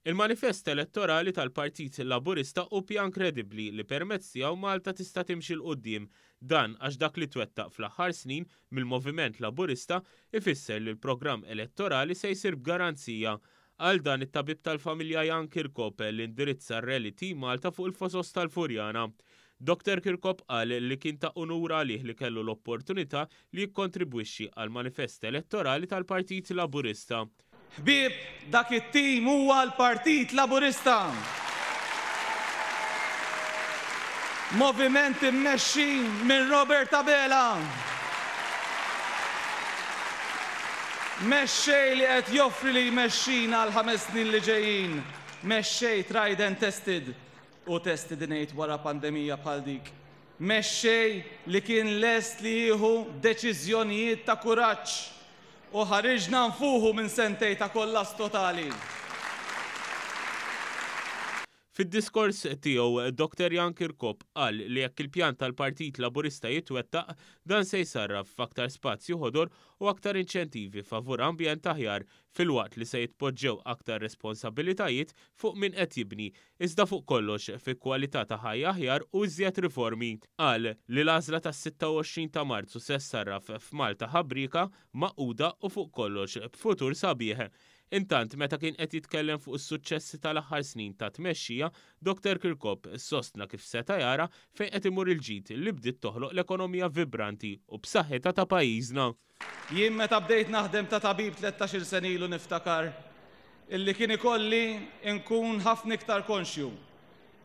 Il-manifest elettorali tal-Partit Laburista hu pjan kredibbli li permezz tiegħu Malta tista' timxi 'l quddiem. Dan għax dak li twettaq fl-aħħar snin mill-Moviment Laburista ifisser li l-programm elettorali se jsir b'garanzija. Qal dan it-tabib tal-familja Jan Kirkop li indirizza r-Rally Team Malta fuq il-Fosos tal-Furjana. Doctor Kirkop qal li kien ta' unur għalih li kellu l-opportunità li jikkontribwixxi għall-manifest elettorali tal-Partit Laburista. Ħbieb, dak it-tim huwa l-Partit Laburista! Moviment immexxi minn Robert Abela. Mexxej li qed joffri li jmexxina għall-ħames snin li ġejjin. Mexxej tried and tested. U tested ngħid wara pandemija bħal dik. Mexxej li kien lest li jieħu deċiżjonijiet ta' kuraġġ u ħariġna nfuħu minn sentej ta' kollass totali. Fid-diskors tiegħu, Dr Jan Kirkop qal li jekk il-pjan tal-Partit Laburista jitwettaq, dan se jsarraf f'aktar spazju ħodor u aktar inċentivi favur ambjent aħjar filwaqt li se jitpoġġew aktar responsabilitajiet fuq min qed jibni, iżda fuq kollox fi kwalità ta' ħajja aħjar u iżjed riformi. Qal li l-għażla tas-26 ta' Marzu se ssarraf f'Malta ħabrieka, magħquda u fuq kollox b'futur sabiħ. Intant, meta kien qed jitkellem fuq is-suċċessi tal-aħħar snin ta' tmexxija, Dr Kirkop sostna kif seta' jara fejn qed imur il-ġid li bdiet toħloq l-ekonomija vibranti u b'saħħitha ta' pajjiżna. Jien meta bdejt naħdem ta' tabib tlettax-il sena ilu niftakar illi kien ikolli nkun ħafna iktar konxju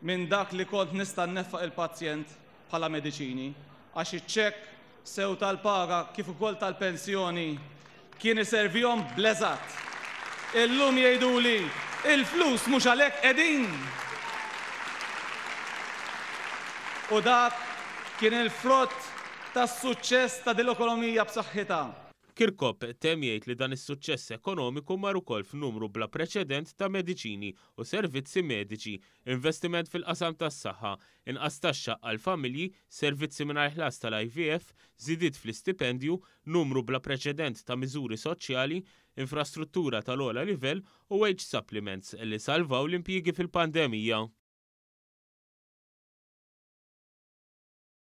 minn dak li kont nista' nneffaq il-pazjent bħala mediċini għax iċ-ċekk sew tal-paga kif ukoll tal-pensjoni kien iservihom bl-eżatt. Illum jgħiduli, il-flus mhux għalhekk qegħdin! U dak kien il-frott tas-suċċess ta' dil-ekonomija b'saħħitha. Kirkop temm jgħid li dan is-suċċess ekonomiku mar ukoll f'numru bla preċedent ta' mediċini u servizzi mediċi, investiment fil-qasam tas-saħħa, inqas taxxa għall-familji, servizzi mingħajr ħlas tal-IVF, żidiet fl-istipendju, numru bla preċedent ta' miżuri soċjali, infrastruttura tal-ogħla livell u wage supplements li salvaw l-impjiegi fil-pandemija.